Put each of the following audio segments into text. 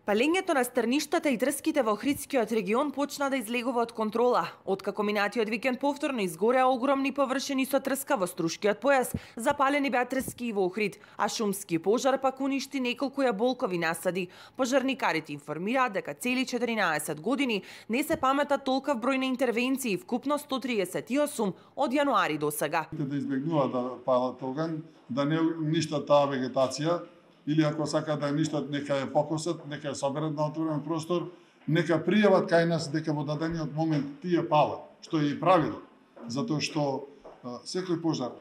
Палењето на стрништата и трските во Охридскиот регион почна да излегува од контрола. Откако минатиот викенд повторно изгореа огромни површини со трска во Струшкиот појас, запалени беа трски и во Охрид, а шумски пожар пак уништи неколку јаболкови насади. Пожарникарите информираат дека цели 14 години не се паметат толков број на интервенции, вкупно 138 од јануари до сега. Да избегнуваат да палат оган, да не уништат таа вегетација, или ако сака да ништат, нека ја покосат, нека ја соберат на отворен простор, нека пријават кај нас дека во дадениот момент тие палат, што е и правило, затоа што секој пожар,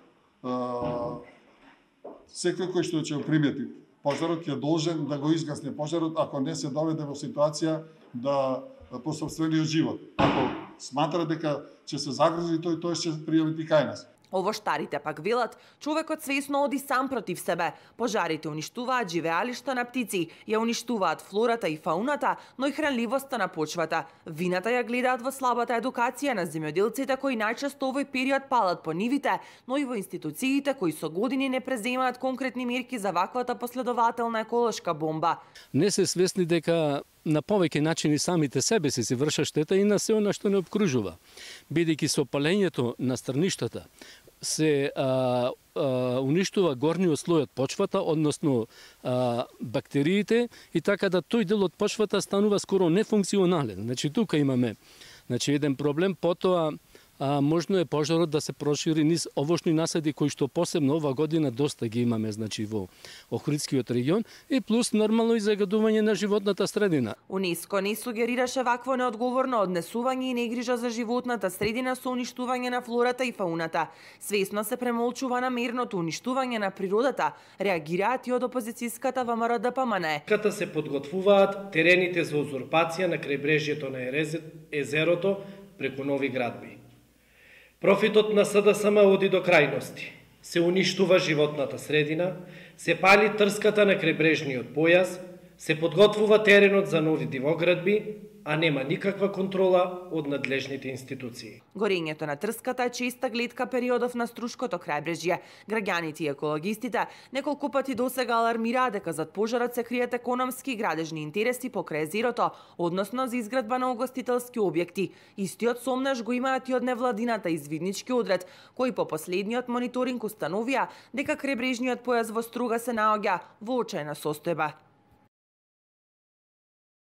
секој кој што ќе примети пожарот ќе должен да го изгасне пожарот, ако не се доведе во ситуација да по сопствениот живот. Ако сматра дека ќе се загрижи тој ќе пријави и кај нас. Овоштарите пак велат, човекот свесно оди сам против себе. Пожарите уништуваат живеалишта на птици, ја уништуваат флората и фауната, но и хранливоста на почвата. Вината ја гледаат во слабата едукација на земјоделците кои најчесто овој период палат по нивите, но и во институциите кои со години не преземаат конкретни мерки за ваквата последователна еколошка бомба. Не се свесни дека на повеќе начини самите себе се вршат штета и на се она што не обкружува. Бидејќи со палењето на стрништата се уништува горниот слој од почвата, односно бактериите, и така да тој дел од почвата станува скоро нефункционален. Значи тука имаме еден проблем, потоа можно е пожарот да се прошири низ овошни насади кои што посебно ова година доста ги имаме во Охридскиот регион, и плюс нормално и загадување на животната средина. УНЕСКО не сугерираше вакво неодговорно однесување и негрижа за животната средина со уништување на флората и фауната. Свесно се премолчува намерното уништување на природата, реагираат и од опозицијската ВМРО ДПМНЕ. Ката се подготвуваат терените за узурпација на крајбрежјето на езерото преку нови градби. Профитот на СДСМ оди до крајности. Се уништува животната средина, се пали трската на крајбрежниот појас, се подготвува теренот за нови дивоградби, а нема никаква контрола од надлежните институции. Горењето на трската е честа гледка периодов на Струшкото крајбрежје. Граѓаните и екологистите неколку пати досега алармираат дека зад пожарот се кријат економски и градежни интереси покрај езерото, односно за изградба на угостителски објекти. Истиот сомнеш го имаат и од невладината извиднички одред, кои по последниот мониторинг установија дека крајбрежниот појас во Струга се наоѓа во очајна состојба.